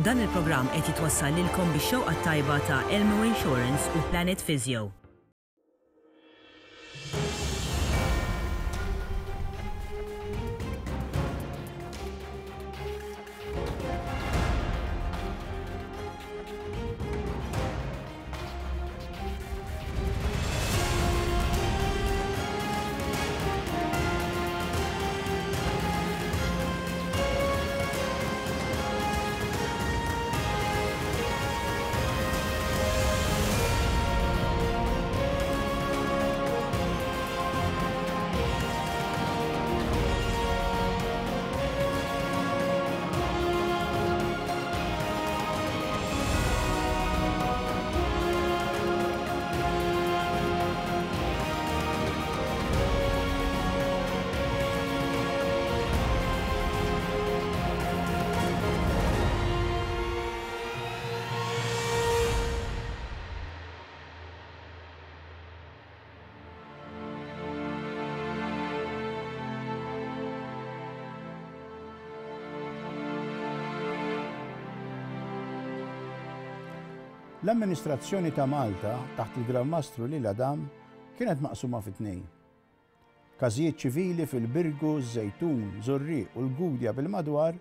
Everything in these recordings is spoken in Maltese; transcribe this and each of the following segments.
Dan il-programm qed jitwassal lilkom bix-xewqa t-tajba ta' Elmo Insurance u Planet Physio. L-amministrazzjoni ta' Malta taħt il-Gran Mastru Lil Adam kienet maqsuma fi tnejn. Każijiet ċivili fil-Birgu, Żejtun, Żurrieq u l-Gudja bil-madwar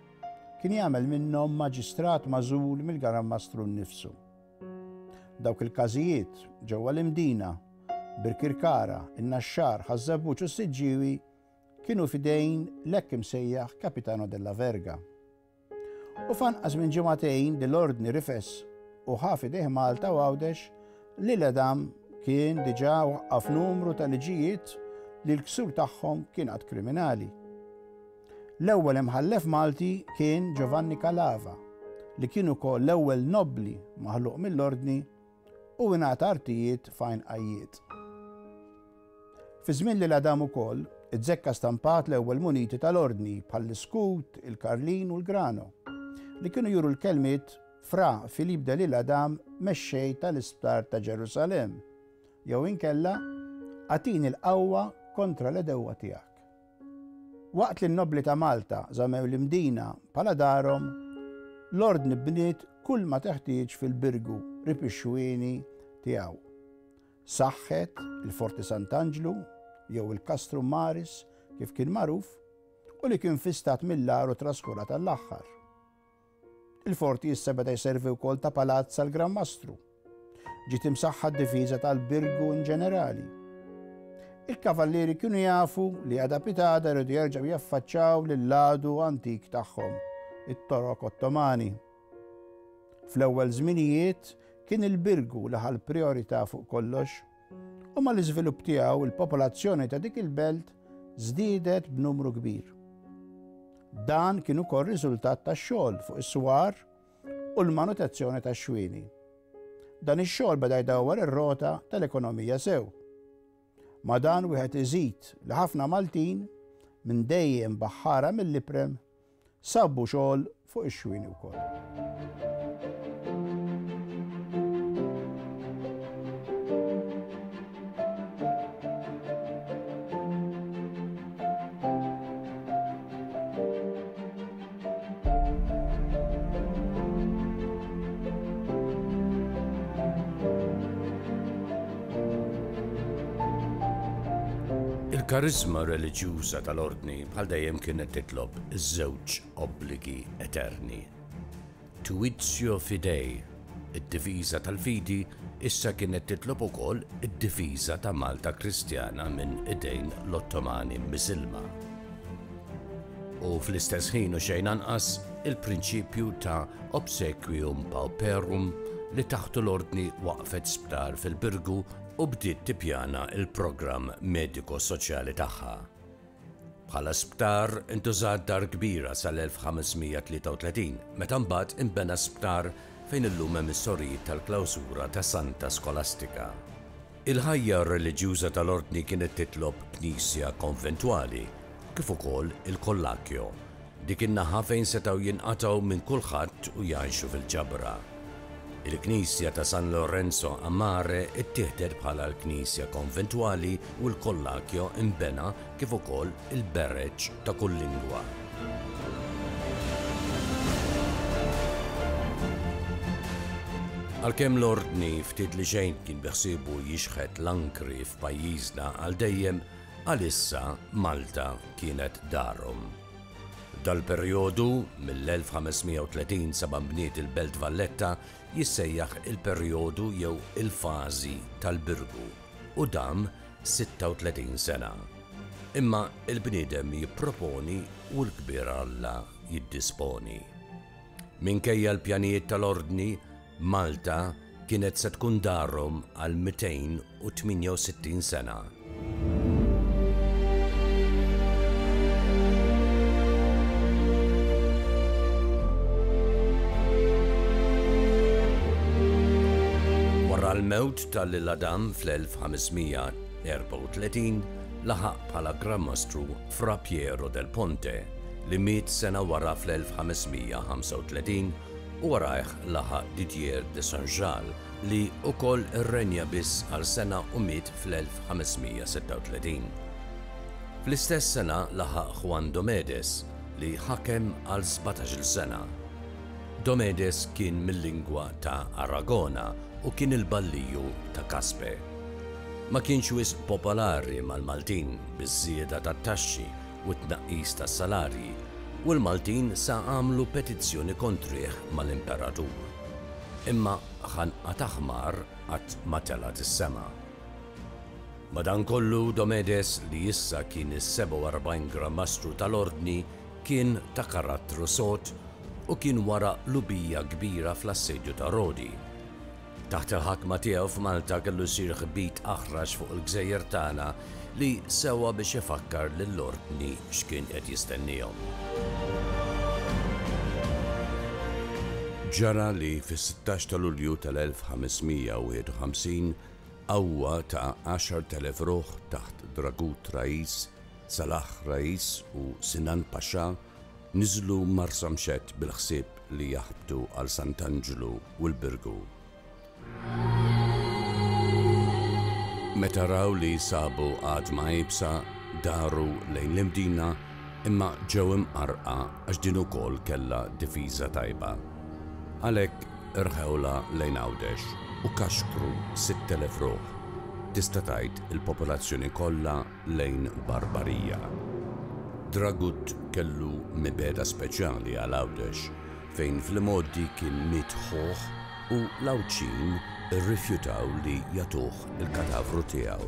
kien jagħmel minnhom maġistrat magħżul mill-Gran Mastru nnifsu. Dawk il-każijiet ġewwa l-Imdina, Birkirkara, in-Naxxar, Ħaż-Żebbuġ u s-Siġġiewi kienu f'idejn l-hekk imsejjaħ Capitano della Verga. U f'anqas minn ġimagħtejn li l-Ordni rifes u ħa f'idejh Malta u Għawdex, L'Isle-Adam kien diġà waqqaf numru ta' liġijiet li l-ksur tagħhom kien att kriminali. L-ewwel imħallef Malti kien Giovanni Calava, li kien ukoll l-ewwel nobbli maħluq mill-Ordni u ingħata artijiet f'Għajn Qajjied. Fi żmien L'Isle-Adam ukoll, iz-zekka stampat l-ewwel muniti tal-Ordni bħall-iskut, il-karlin u l-grano, li kienu juru l-kelmiet Fra Philippe de L'Isle-Adam mexxej tal-Isptar ta' Ġerusalemm, jew inkella Agħtini l-qawwa kontra l-għedewwa tiegħek. Waqt li n-nobbli ta' Malta żammew l-Imdina bħala darhom, l-Ordni bniet kull ma teħtieġ fil-Birgu qrib ix-xwieni tiegħu. Saħħet il-Forti Sant'Anġlu, jew il-Castrum Maris kif kien magħruf, u li kien fi stat mill-agħar u traskurat għall-aħħar. Il-forti issa beda jservi wkoll ta' palazz għall-Gran Mastru. Ġiet imsaħħa d-difiża tal-Birgu in ġenerali. Il-kavallieri kienu jafu li għada pitada jridu jerġgħu jaffaċċaw lill-għadu antik tagħhom, it-Torok Ottomani. Fl-ewwel żminijiet kien il-Birgu li ħa l-prijorità fuq kollox u mal-iżvilupp tiegħu il-popolazzjoni ta' dik il-belt żdiedet b'numru kbir. Dan kien ukoll riżultat tax-xogħol fuq is-swar u l-manutenzjoni tax-xwieni. Dan ix-xogħol beda jdawwar ir-rota tal-ekonomija sew. Ma' dan wieħed iżid li ħafna Maltin, minn dejjem baħħara mill-iprem, Sabu xogħol fuq ix-xwieni wkoll. Il-kariżma reliġjuża tal-Ordni bħal dejjem kienet titlob iż-żewġ obbligi eterni. Tuitio fidei, id-difiża tal-fidi, issa kienet titlob ukoll id-difiża ta' Malta Kristjana minn idejn l-Ottomani Misilma. U fl-istess ħin u xejn anqas, il-prinċipju ta' obsequium pauperum li taħtu l-Ordni waqqfet sptar fil-Birgu u bdiet tippjana l-programm mediko-soċjali tagħha. Bħala sptar intużat dar kbira sal-1533, meta mbagħad inbena sptar fejn illum hemm is-sorijiet tal-klawsura ta' Santa Skolastika. Il-ħajja reliġjuża tal-Ordni kienet titlob knisja konventwali, kif ukoll il-Collachio, dik in-naħa fejn setgħu jinqatgħu minn kulħadd u jgħixu fil-ġabra. Il-knisja ta' San Lorenzo a Mare ttieħdet bħala l-knisja konventwali u l-Collachio nbena kif ukoll il-bereġ ta' kull lingwa. Għalkemm l-Ordni ftit li xejn kien biħsiebu jixħet l-ankri f'pajjiżna għal dejjem, għalissa Malta kienet darhom. Dal-perjodu, mill-1530 sa ma nbniet il-Belt Valletta, jissejjaħ il-perjodu jew il-fażi tal-Birgu u dam 36 sena. Imma l-bniedem jipproponi u l-kbir Alla jiddisponi. Minkejja l-pjanijiet tal-Ordni, Malta kienet se tkun darhom għal 268 sena. Wara l-mewt ta' Lil Adam fl-1534, laħaq bħala Gran Mastru Fra Piero del Ponte, li miet sena wara fl-1535 u warajh laħaq Didier de Saint-Jal li wkoll irrenja biss għal sena u miet fl-1536. Fl-istess sena laħaq Juan Domedes li ħakem għal sbatax-il sena. Domedes kien mil-lingwa ta' Aragona u kien il-balliju ta' Caspe. Ma kienx wisq popolari mal-Maltin biż-żieda tat-taxxi u t-tnaqqis tas-salarji, u l-Maltin sa għamlu petizzjoni kontrih mal-Imperatur. Imma ħanqa ta' ħmar qatt ma telgħet is-sema. Madankollu Domedes, li issa kien is-47 Gran Mastru tal-Ordni, kien ta' karattru sod u kien wara qlubija kbira fl-assedju ta' Rodi. Taħt il-ħakma tiegħu f'Malta kellu jsir ħbit aħrax fuq il-gżejjer tagħna li sewa biex ifakkar lill-Ordni x'kien qed jistenniehom. Ġara li fis-16 ta' Lulju tal-1551 qawwa ta' 10,000 ruħ taħt Dragut Rais, Salah Rais u Sinan Pasha Niżlu Marsamxett bil-ħsieb li jaħbtu għal Sant'Anġlu u l-Birgu. Meta raw li sabu għadma iebsa, daru lejn l-Imdina imma ġew imqarrqa għax din ukoll kellha difiża tajba. Għalhekk irħewlha lejn Għawdex u kaxkru 6,000 ruħ, tista' tgħid il-popolazzjoni kollha lejn Barbarija. Dragut kellu mibegħda speċjali għal Għawdex, fejn fl-imgħoddi kien miet ħuh u l-Għawdxin irrifjutaw li jagħtuh il-katavru tiegħu.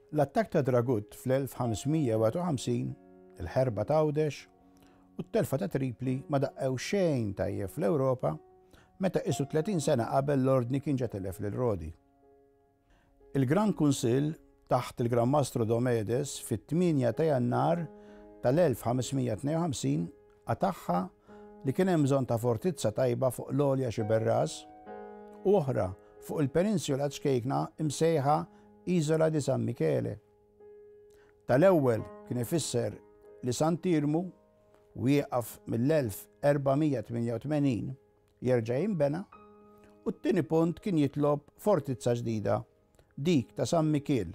L-attakk ta' Dragut fl-1551, il-ħerba t'Għawdex, u t-telfa ta' Tripli ma daqqew xejn tajjeb fl-Ewropa meta qisu 30 sena qabel l-Ordni kien ġa tilef lil Rodi. Il-Gran Kunsill taħt il-Gran Mastru Domedes fit-8 ta' Jannar tal-1552 qatagħha li kien hemm bżonn ta' fortizza tajba fuq l-għolja Xiberras u oħra fuq il-peninsula ċkejkna imsejħa Isola di San Michele. Tal-ewwel kien ifisser li Sant'Iermu, wieqaf mill-1488, jerġa' jinbena, u t-tieni punt kien jitlob fortizza ġdida, dik ta' San Mikiel,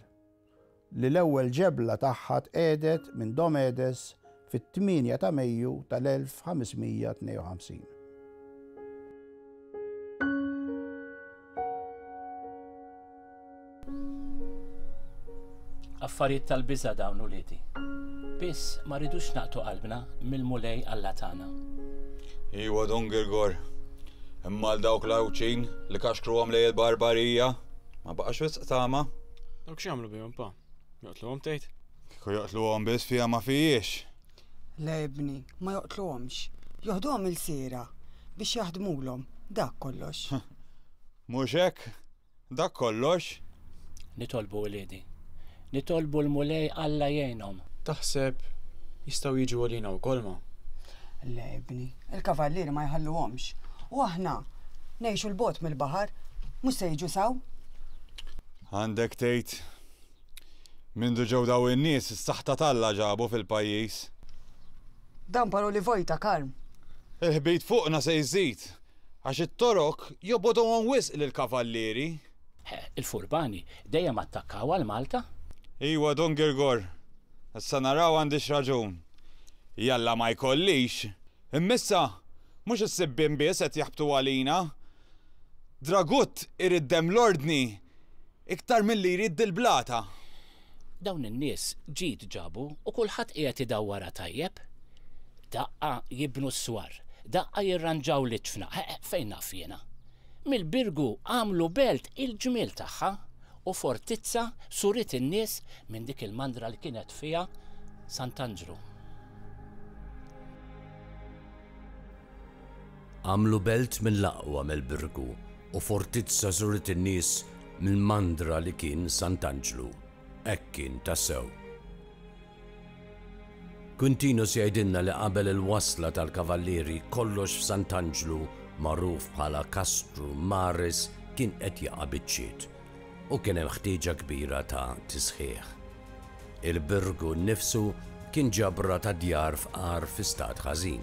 li l-ewwel ġebla tagħha tqiegħdet minn Domedes fit-8 ta' Mejju tal-1552. Affarijiet tal-biża' dawn uliedi. Biss ma rridux naqtgħu qalbna mill-Mulej Alla tagħna. Iwa Dun Girgor, imma għal dawk l-Għawdxin li kaxkruhom lejn il-barbarija, ma baqax wisq tama. Dawk x'jagħmlu bihom pa? Joqtluhom tgħid? Kieku joqtluhom biss fiha ma fihiex. Le ibni, ma joqtluhomx. Joħduhom ilsiera biex jaħdmulhom, dak kollox. Mhux hekk? Dak kollox? Nitolbu uliedi. Nitolbu l-Mulej Alla jgħinhom. Taħseb jistgħu jiġu għalina wkoll ma? Le ibni, il-kavallieri ma jħalluhomx. U aħna ngħixu 'l bogħod mill-baħar, mhux se jiġu s'hawn. Għandek tgħid. Mindu ġew dawn in-nies, is-saħta t'Alla ġabu fil-pajjiż. Dan paroli vojta, Karm. Il-ħbit fuqna se jżid. Għax it-Torok jobogħduhom wisq lill-kavallieri. Il-furbani dejjem attakkaw għal Malta. Iwa, Dun Girgor, issa naraw għandix raġun. Jalla ma jkollix! Imma issa, mhux is-sibbien biss qed jaħbtu għalina. Dragut irid demm l-Ordni iktar milli jrid dil-blata. Dawn in-nies ġid ġabu u kulħadd qiegħed idawwarha tajjeb. Daqqa jibnu s-swar, daqqa jirranġaw l-iġfna, fejn naf jiena. Mill-Birgu għamlu belt il-ġmiel tagħha u fortizza suriet in-nies minn dik il-mandra li kienet fiha Sant'Anġlu. Għamlu belt mill-aqwa mill-Birgu u fortizza żuret in-nies mill-mandra li kien Sant'Anġlu. Hekk kien tassew. Quintinus jgħidilna li qabel il-wasla tal-Kavallieri kollox f'Sant'Anġlu magħruf bħala Castrum Maris kien qed jaqa' biċċiet u kien hemm ħtieġa kbira ta' tisħiħ. Il-Birgu nnifsu kien ġabra ta' djar fqar fi stat ħażin.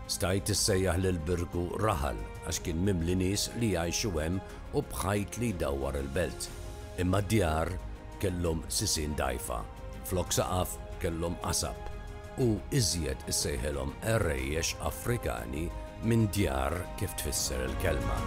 Stajt issejjaħ lill-Birgu raħal għax kien mimli nies li jgħixu hemm u b'ħajt li jdawwar il-belt. Imma d-djar kellhom sisien dgħajfa, flok saqaf kellhom qasab u iżjed issejħilhom għerejjex Afrikani minn djar kif tfisser il-kelma.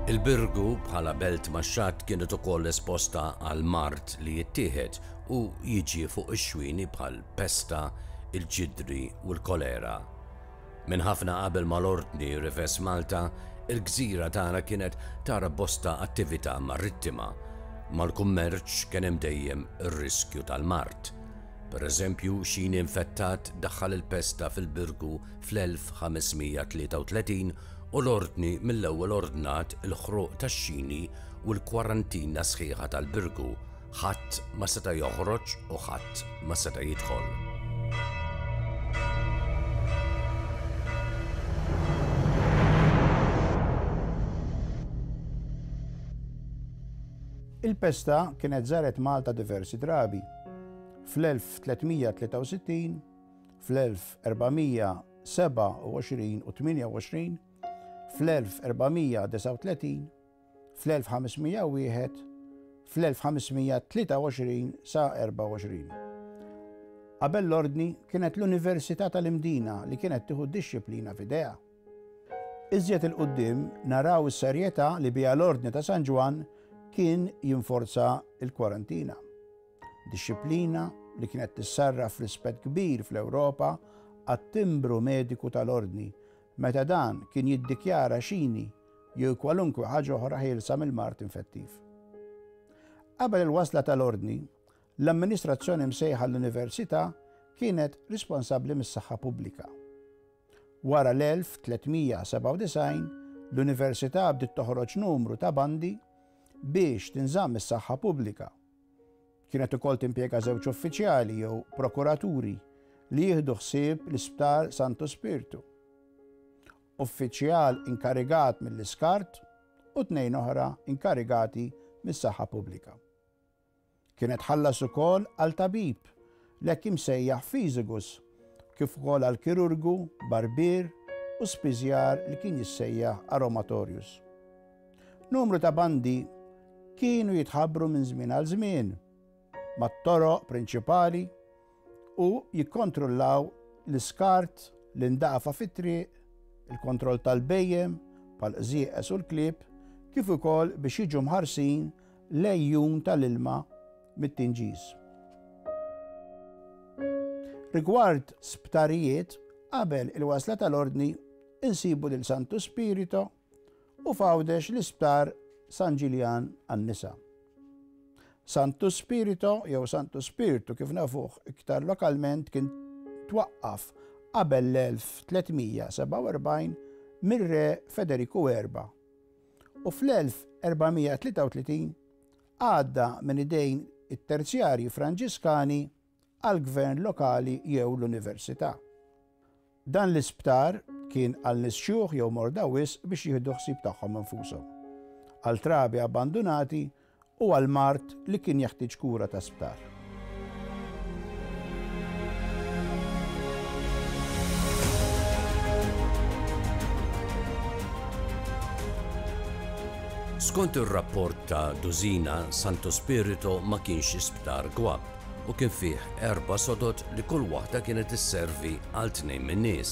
Il-Birgu bħala belt max-xatt kienet ukoll esposta għal mard li jittieħed u jiġi fuq ix-xwieni bħal pesta, il-ġidri u l-kolera. Minn ħafna qabel ma l-Ordni rifes Malta, il-gżira tagħna kienet tara bosta attività marittima. Mal-kummerċ kien hemm dejjem ir-riskju tal-mard. Per eżempju, xini infettat daħħal il-pesta fil-Birgu fl-1533 u l-Ordni mill-ewwel ordnat il-ħruq tax-xini u l-kwarantina sħiħa tal-Birgu, ħadd ma seta' joħroġ u ħadd ma seta' jidħol. Il-pesta kienet żaret Malta diversi drabi, fl-1363, fl-1427 u 28, fl-1439, fl-1501, fl-1523 sa 24. Qabel l-Ordni kienet l-Università tal-Imdina li kienet tieħu d-dixxiplina f'idejha. Iżjed 'il quddiem naraw is-serjetà li biha l-Ordni ta' San Ġwann kien jinforza l-kwarantina. Dixxiplina li kienet tissarraf f'rispett kbir fl-Ewropa għat-timbru mediku tal-Ordni meta dan kien jiddikjara xini jew kwalunkwe ħaġa oħra ħielsa mill-mard infettiv. Qabel il-wasla tal-Ordni, l-amministrazzjoni msejħa l-Università kienet risponsabbli mis-saħħa pubblika. Wara l-1397, l-Università bdiet toħroġ numru ta' bandi biex tinżamm is-saħħa pubblika. Kienet ukoll timpjega żewġ uffiċjali jew prokuraturi li jieħdu ħsieb l-Isptar Santu Spirtu. Uffiċjal inkarigat mill-iskart u tnejn oħra inkarigati mis-saħħa pubblika. Kienet tħallas ukoll għal tabib, l-hekk imsejjaħ fiżigus, kif ukoll għal kirurgu, barbier u spiżjar li kien jissejjaħ aromatorius. Numru ta' bandi kienu jitħabbru minn żmien għal żmien mat-toroq prinċipali u jikkontrollaw l-iskart, l-indafa fit-triq, il-kontroll tal-bhejjem bħall-qżieqeż u l-klieb, kif ukoll biex jiġu mħarsin l-għejjun tal-ilma mit-tinġiż. Rigward sptarijiet, qabel il-wasla tal-Ordni insibu lil Santu Spirito u f'Għawdex l-Isptar San Ġiljan għan-nisa. Santu Spirito jew Santu Spirtu kif nafuh iktar lokalment kien twaqqaf qabel l-1347 mir-Re Federiku Erba' u fl-1433 għadda minn idejn it-Terzjarji Franġiskani għall-gvern lokali jew l-università. Dan l-isptar kien għal nies xjuħ jew morda wisq biex jieħdu ħsieb tagħhom infushom, għal trabi abbandunati u għal mard li kien jeħtieġ kura ta' sptar. Skont ir-rapport ta' Dusina, Santo Spirito ma kienx isptar gwapp. u kien fih erba' sodod li kull waħda kienet isservi għal tnejn min-nies,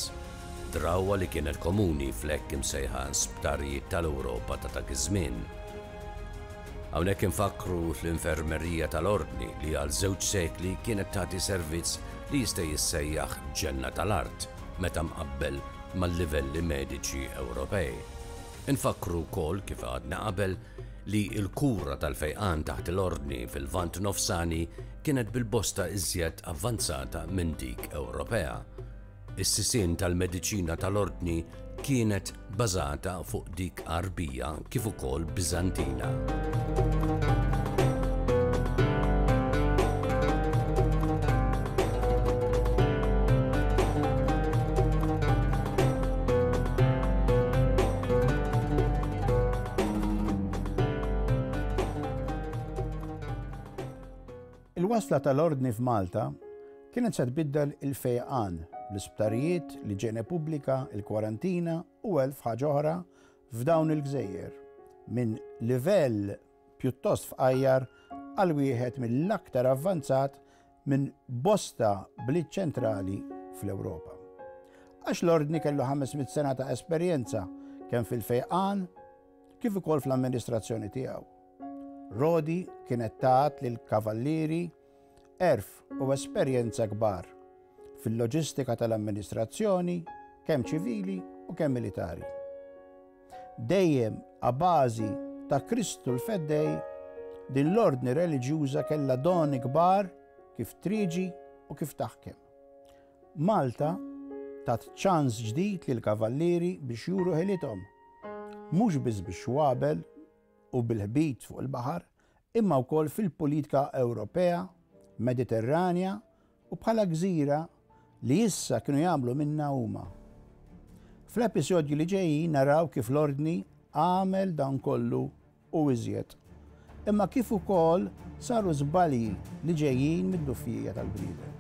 drawwa li kienet komuni fl-hekk imsejħa sptarijiet tal-Ewropa ta' dak iż-żmien. Hawnhekk infakkru l-infermerija tal-Ordni li għal żewġ sekli kienet tagħti servizz li jista' jissejjaħ ġenna tal-art meta mqabbel mal-livelli mediċi Ewropej. Infakkru wkoll, kif għadna qabel, li l-kura tal-fejqan taħt l-Ordni fil-Lvant Nofsani kienet bil-bosta iżjed avvanzata minn dik Ewropea. Is-sisien tal-mediċina tal-Ordni kienet bażata fuq dik Għarbija kif ukoll Biżantina. Il-wasla tal-Ordni f'Malta kienet se tbiddel il-fejqan, l-isptarijiet, l-iġene pubblika, il-kwarantina u elf ħaġa oħra f'dawn il-gżejjer, minn livell pjuttost fqajjar għal wieħed mill-aktar avvanzat minn bosta bliet ċentrali fl-Ewropa. Għax l-Ordni kellu 500 sena ta' esperjenza kemm fil-fejqan kif ukoll fl-amministrazzjoni tiegħu. Rodi kienet tat lil kavallieri għerf u esperjenza kbar fil-loġistika tal-amministrazzjoni kemm ċivili u kemm militari. Dejjem a bażi ta' Kristu l-Feddej, din l-ordni reliġjuża kellha doni kbar kif trieġi u kif taħkem. Malta tat ċans ġdid lill-kavallieri biex juru ħilithom, mhux biss bix-xwabel u bil-ħbit fuq il-baħar, imma wkoll fil-politika Ewropea, Mediterranja u bħala gżira li issa kienu jagħmlu minnha huma. Fl-episodji li ġejjin naraw kif l-Ordni għamel dan kollu u iżjed, imma kif ukoll saru żbalji li ġejjin mid-dufjija tal-bniedem.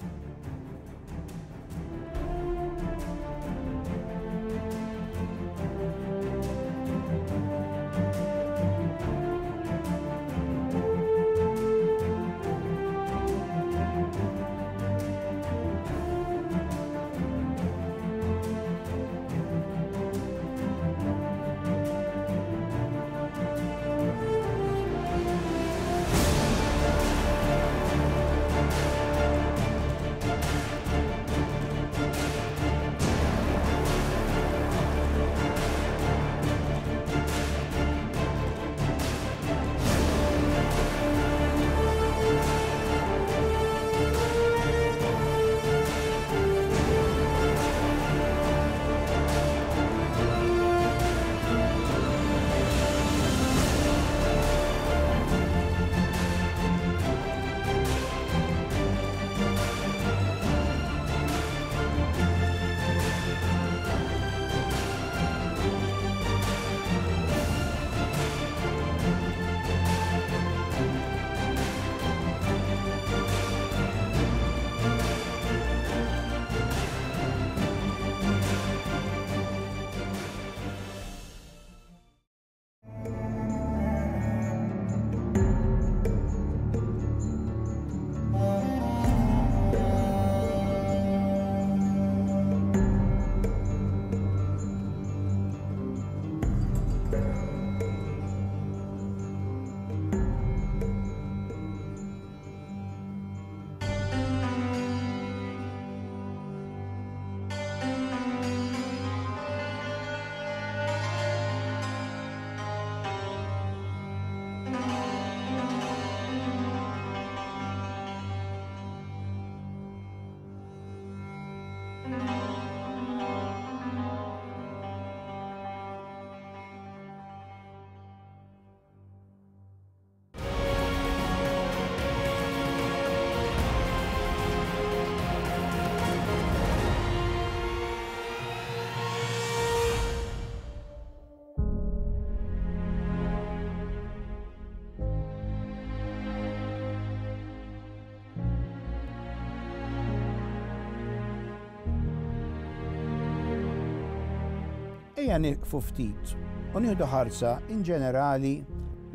Ejja nieqfu ftit u nieħdu ħarsa in ġenerali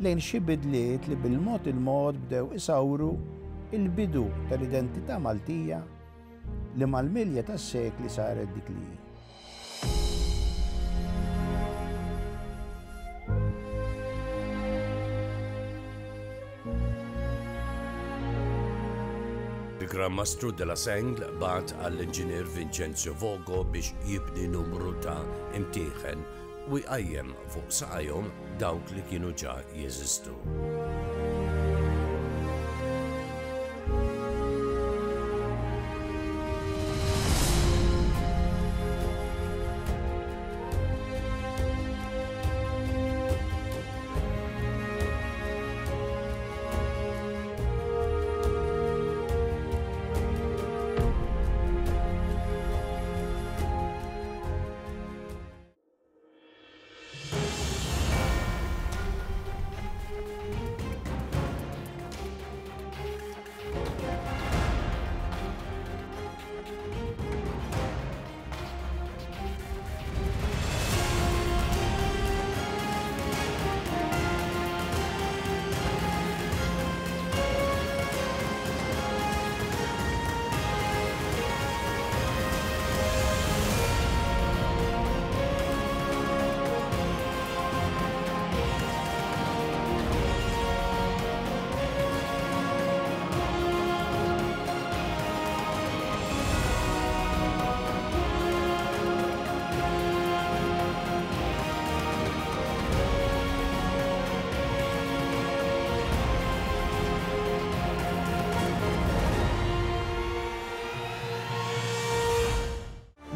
lejn xi bidliet li bil-mod il-mod bdew isawru l-bidu tal-identità Maltija li mal-milja tas-sekli saret dik li hi. Il-Gran Mastru de la Sengle bagħat għall-inġinier Vincenzo Vogo biex jibni numru ta' imtieħen u jqajjem fuq saqajhom dawk li kienu ġa jeżistu.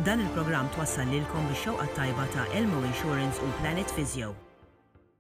Dan il-programm twassal lilkom bix-xewqa t-tajba ta' Elmo Insurance u Planet Physio.